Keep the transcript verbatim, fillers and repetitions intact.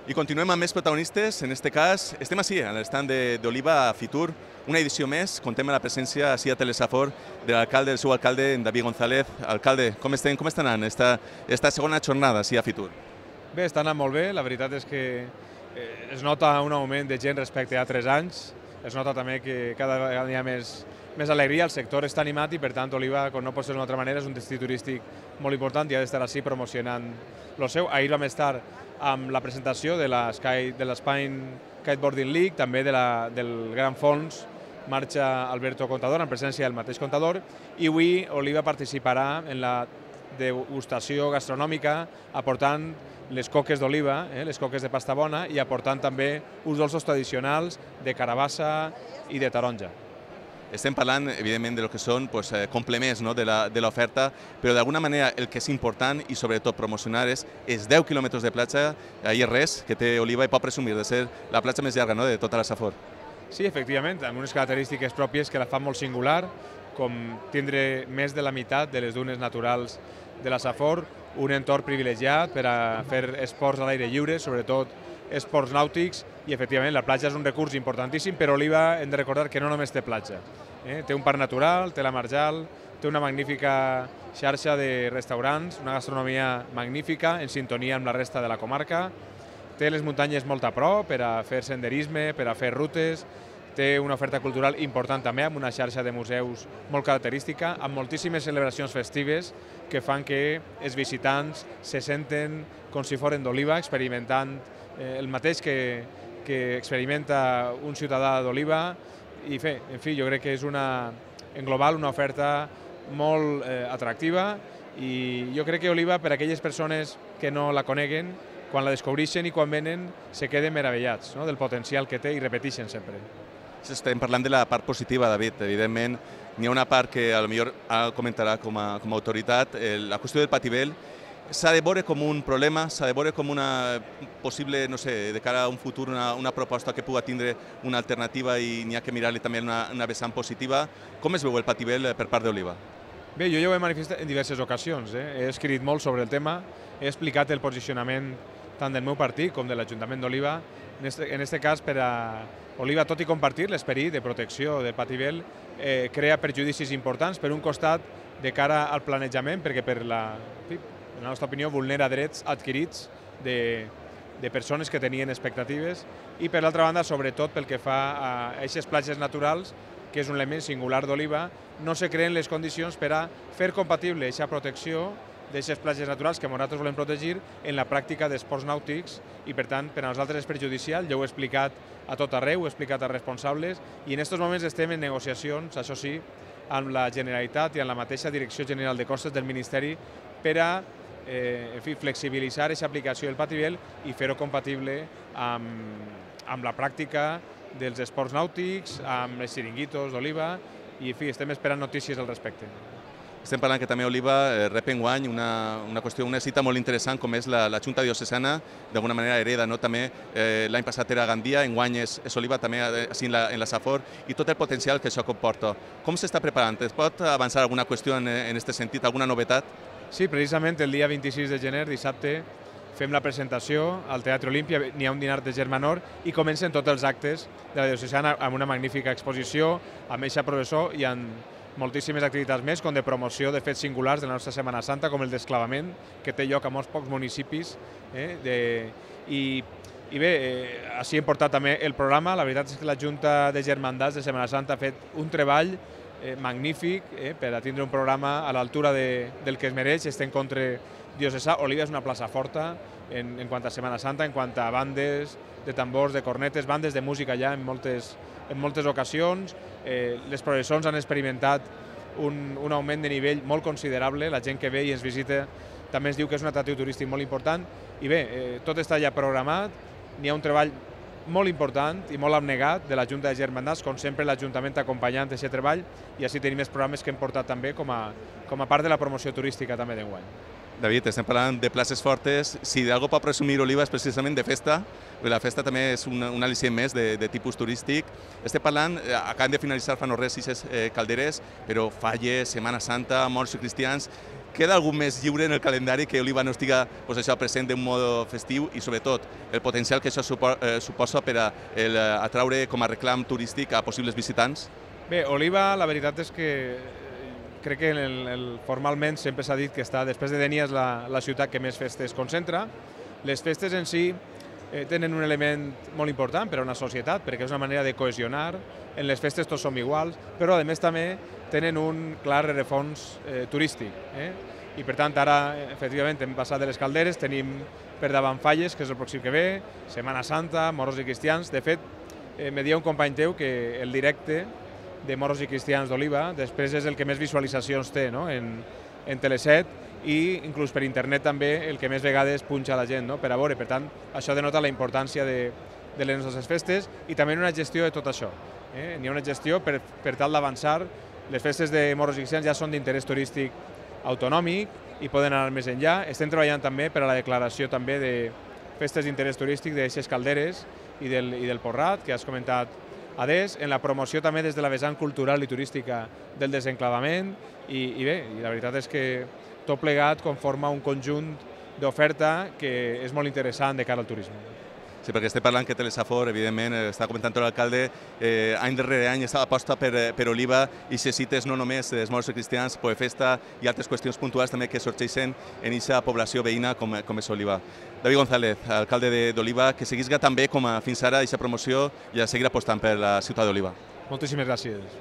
I continuem amb més protagonistes, en aquest cas estem així, a l'estand d'Oliva a Fitur, una edició més, contem amb la presència així a Telesafor de l'alcalde, del seu alcalde, en David González. Alcalde, com estem, com està anant esta, esta segona jornada així a Fitur? Bé, està anant molt bé, la veritat és que es nota un augment de gent respecte a altres anys, es nota també que cada vegada hi ha més, més alegria, el sector està animat i per tant Oliva, com no pot ser d'una altra manera, és un destí turístic molt important i ha d'estar així promocionant el seu. Ahir vam estar amb la presentació de l'Spine Kiteboarding League, també de la, del Gran Fons Marxa Alberto Contador, en presència del mateix Contador, i avui Oliva participarà en la degustació gastronòmica aportant les coques d'oliva, eh, les coques de pasta bona, i aportant també uns dolços tradicionals de carabassa i de taronja. Estem parlant, evidentment, de lo que són pues, eh, complements no, de l'oferta, però d'alguna manera el que és important i sobretot promocionar és els deu quilòmetres de platja, ahir res, que té Oliva i pot presumir de ser la platja més llarga no, de tota la Safor. Sí, efectivament, amb unes característiques pròpies que la fan molt singular, com tindre més de la meitat de les dunes naturals de la Safor, un entorn privilegiat per a fer esports a l'aire lliure, sobretot esports nàutics, i efectivament la platja és un recurs importantíssim, però Oliva hem de recordar que no només té platja. Eh? Té un parc natural, té la Marjal, té una magnífica xarxa de restaurants, una gastronomia magnífica, en sintonia amb la resta de la comarca, té les muntanyes molt a prop per a fer senderisme, per a fer rutes, té una oferta cultural important també, amb una xarxa de museus molt característica, amb moltíssimes celebracions festives que fan que els visitants se senten com si foren d'Oliva, experimentant eh, el mateix que, que experimenta un ciutadà d'Oliva. I fe, en fi, jo crec que és una, en global una oferta molt eh, atractiva, i jo crec que Oliva, per a aquelles persones que no la coneguen, quan la descobreixen i quan venen, se queden meravellats no? del potencial que té i repeteixen sempre. Estem parlant de la part positiva, David. Evidentment, n'hi ha una part que potser comentarà com a, com a autoritat. La qüestió del patibel s'ha de veure com un problema, s'ha de veure com una possible, no sé, de cara a un futur, una, una proposta que pugui tindre una alternativa i n'hi ha que mirar-li també una, una vessant positiva. Com es veu el patibel per part d'Oliva? Bé, jo ja ho he manifestat en diverses ocasions. Eh? He escrit molt sobre el tema, he explicat el posicionament tant del meu partit com de l'Ajuntament d'Oliva. En este, en este cas, per a Oliva, tot i compartir l'esperit de protecció del patibel, eh, crea perjudicis importants, per un costat, de cara al planejament, perquè per la, en la nostra opinió vulnera drets adquirits de, de persones que tenien expectatives, i per l'altra banda, sobretot pel que fa a aquestes platges naturals, que és un element singular d'Oliva, no se creen les condicions per a fer compatible aquesta protecció d'aquestes platges naturals que nosaltres volem protegir en la pràctica d'esports nàutics, i per tant per a nosaltres és perjudicial. Jo ho he explicat a tot arreu, ho he explicat als responsables, i en aquests moments estem en negociacions, això sí, amb la Generalitat i amb la mateixa Direcció General de Costes del Ministeri per a eh, en fi, flexibilitzar aquesta aplicació del patibel i fer-ho compatible amb, amb la pràctica dels esports nàutics, amb els xiringuitos d'Oliva, i en fi, estem esperant notícies al respecte. Estem parlant que també Oliva eh, rep enguany una, una qüestió, una cita molt interessant com és la, la Junta Diocesana, d'alguna manera hereda, no? També eh, l'any passat era Gandia, enguany és, és Oliva també així en la, en la Safor, i tot el potencial que això comporta. Com s'està preparant? Es pot avançar alguna qüestió en aquest sentit, alguna novetat? Sí, precisament el dia vint-i-sis de gener, dissabte, fem la presentació al Teatre Olímpia, n'hi ha un dinar de germanor i comencen tots els actes de la Diocesana amb una magnífica exposició, amb eixa professor i amb moltíssimes activitats més, com de promoció de fets singulars de la nostra Setmana Santa, com el desclavament, que té lloc a molts pocs municipis. Eh, de, i, I bé, eh, així hem portat també el programa. La veritat és que la Junta de Germandats de Setmana Santa ha fet un treball eh, magnífic eh, per a tindre un programa a l'altura de, del que es mereix, este encontre diocesà. Oliva és una plaça forta en, en quant a Setmana Santa, en quant a bandes de tambors, de cornetes, bandes de música ja en moltes, en moltes ocasions. Eh, les processons han experimentat un, un augment de nivell molt considerable, la gent que ve i ens visita també ens diu que és un atractiu turístic molt important, i bé, eh, tot està ja programat, n'hi ha un treball molt important i molt abnegat de la Junta de Germandats, com sempre l'Ajuntament acompanyant aquest treball, i així tenim els programes que hem portat també com a, com a part de la promoció turística també d'enguany. David, estem parlant de places fortes. Si d'algú pot presumir Oliva és precisament de festa, perquè la festa també és un, un al·licient més de, de tipus turístic. Estem parlant, acabem de finalitzar fa no res sis eh, calderes, però Falles, Setmana Santa, morts i cristians. Queda algun més lliure en el calendari que Oliva no estiga pues, això, present d'un mode festiu i sobretot el potencial que això supo, eh, suposa per a el, atraure com a reclam turístic a possibles visitants? Bé, Oliva, la veritat és que crec que el, el, formalment sempre s'ha dit que està, després de Dénia, és la, la ciutat que més festes concentra. Les festes en si eh, tenen un element molt important per a una societat, perquè és una manera de cohesionar. En les festes tots som iguals, però a més també tenen un clar rerefons eh, turístic. Eh? I per tant ara, efectivament, hem passat de les calderes, tenim per davant Falles, que és el pròxim que ve, Setmana Santa, moros i cristians. De fet, eh, me deia un company teu que el directe de moros i cristians d'Oliva, després és el que més visualitzacions té, no? en, en Teleset i inclús per internet també el que més vegades punxa la gent, no? per a veure. Per tant, això denota la importància de, de les nostres festes i també una gestió de tot això. Eh? N'hi ha una gestió per, per tal d'avançar. Les festes de moros i cristians ja són d'interès turístic autonòmic i poden anar més enllà. Estem treballant també per a la declaració també de festes d'interès turístic d'eixes calderes i del, i del Porrat, que has comentat adés, en la promoció també des de la vessant cultural i turística del desenclavament i, i bé, i la veritat és que tot plegat conforma un conjunt d'oferta que és molt interessant de cara al turisme. Sí, perquè estem parlant que Telesafor, evidentment, està comentant l'alcalde, eh, any darrere any aposta per, per Oliva i se cites no només els moros i cristians, Poefesta i altres qüestions puntuals també que sorgeixen en aquesta població veïna com, com és Oliva. David González, alcalde d'Oliva, que seguisca també com a fins ara aquesta promoció i a seguir apostant per la ciutat d'Oliva. Moltíssimes gràcies.